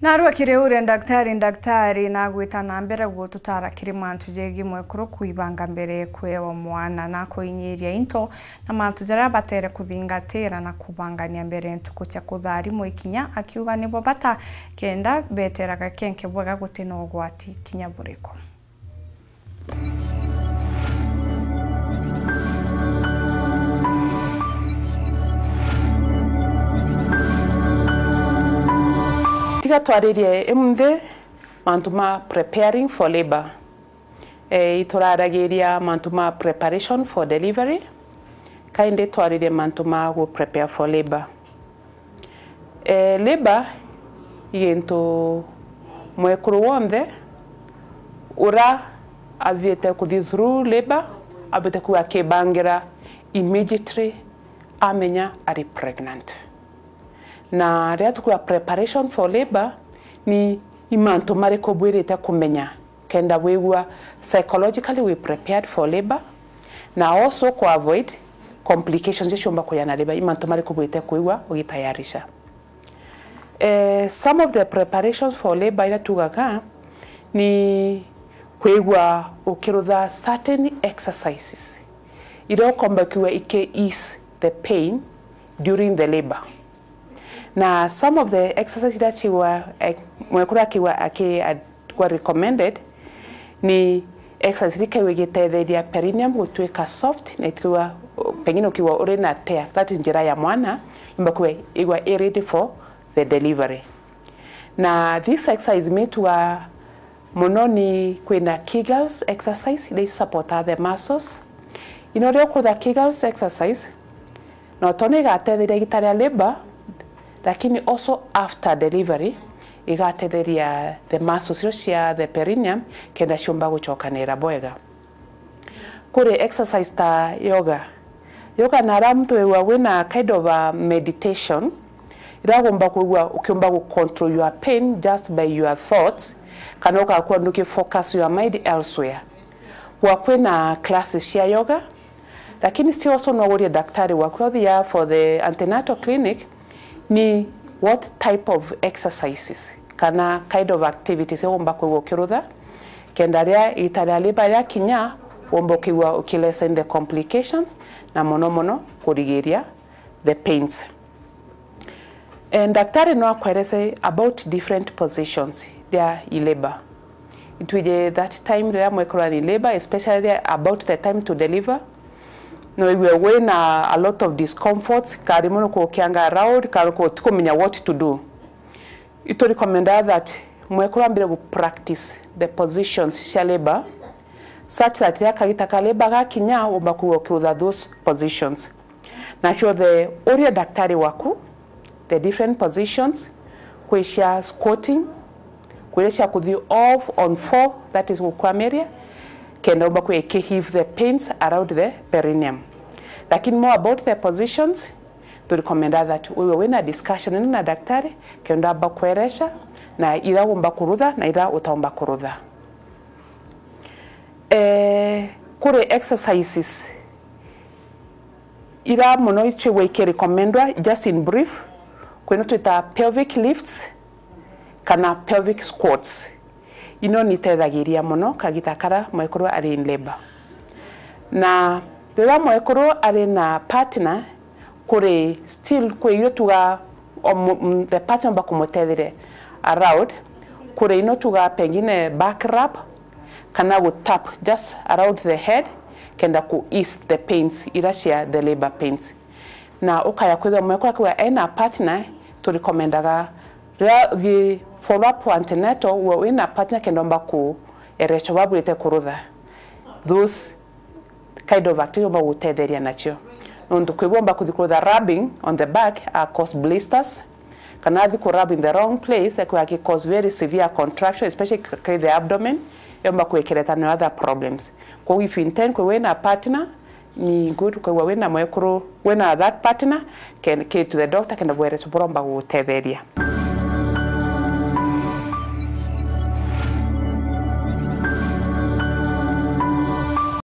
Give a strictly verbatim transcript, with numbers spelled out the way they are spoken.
Narua kiri uria ndaktari, ndaktari nagwita na mbere gututara kiri mantu jegii mwekuru kwibanga mbere kwewa mwana na kuinyiria into na mantu jaria batere kuthingatira na kubangania mbere ntuku cia kutharimwa ikinya, akiuga nibo bata kenda beteraga kenke bwega guti na ugwati kinya buriku. Tiga twaririe imunthi mantu ma preparing for labour. E, ituraragiria mantu ma preparation for delivery, kaindi twaririe mantu ma gu prepare for labour. E, labour i gintu mwekuru wonthe ura athiite kuthi through labour abwite kuuga akibangira immediately amenya ari pregnant. Na riria tukuuga preparation for labour, ni i mantu mariku bwirite kumenya kenda wigua psychologically we prepared for labour, na also ku avoid complications iria ciumba kuya na labour. I mantu mariku bwite kwigua ugitayarisha? Eh, some of the preparations for labour iria tugaga ni kwigua ukirutha certain exercises iria ukomba kwigua iki ease the pain during the labour. Na some of the exercises iria cigwa, eh, mwekuru akigwa aki-, a-, kwa recommended ni exercise iria ikigwa igitetheria perineum gutuika soft, na ikigwa, pengine ukigwa uri na tear, that is njira ya mwana, yumba kwigwa igwa i ready for the delivery. Na this exercise mitwa muno ni kwina Kegels exercise, iria i supporta the muscles. Ino ria ukutha Kegels exercise, no tone igatetheria igita ria labour, lakini also after delivery, igatetheria the muscles icio cia the perineum kenda ciumba gucokanira bwega. Kuri exercise ta yoga. Yoga nara muntu wigua wina kind of a meditation, iria ugomba kwigua ukiumba gu control your pain just by your thoughts, kana ugakorwa nduki focus your mind elsewhere. Kwa kwina classes cia yoga, lakini still also no urie daktari waku, uthia for the antenatal clinic, ni what type of exercises kana kind of activities ugomba kwigua ukirutha, kenda ria igita ria labour riakinya, womba ukigua ukilessen the complications, na mono mono kurigiria the pains. Eh, daktari no akwerese about different positions ria i labour. Itwije that time riria mwekuru ari in labour, especially about the time to deliver, no igue wina a lot of discomforts, kana rimwe nukukianga around, kana nuku-, utikumenya what to do. Itu recommenda that mwekuru ambire gu practice the positions cia labour, such that riria kagita ka labour gakinya, umba kwigua ukiutha those positions. Nacio the urie daktari waku the different positions, kwi cia squatting, kwi cia kuthi off on four, that is gukwamiria, kenda umba kwi ki heave the pains around the perineum. Lakini more about the positions, tu recommenda that wewe wina discussion ino na daktari, kenda amba kweresha na ira umba kurutha na ira utaumba kurutha. Eh, kuri exercises ira mono icio igwa ikirecommendwa, just in brief, kwina twita pelvic lifts kana pelvic squats. Ino nitethagiria mono kagita kara mwekuru ari in labour. Na riria mwekuru ari na partner, kuri still kwi irio tuga o mu-, m-, the partner omba kumutetheria around, kuri ino tuga pengine back rub, kana gu tap just around the head, kenda ku ease the pains, ira cia the labour pains. Na ukaya kwithirwa mwekuru akiuga ena partner, tu recommendaga riria uthii follow up wa antenatal, uwe wina partner kenda omba kuerecwa babwirite kurutha. Those kind of activity omba gutetheria nacio. Nontu kwi bwomba kuthi kurutha rubbing on the back, a cause blisters, kana athi ku rub in the wrong place, ekwa aki cause very severe contraction, especially k-, k-, the abdomen, yomba kwekereta na other problems. Koguo if you intend kwi wina partner, ni good kwigua wina mwekuru, wina that partner, can, can to the doctor, kenda bwereco buromba gugutetheria.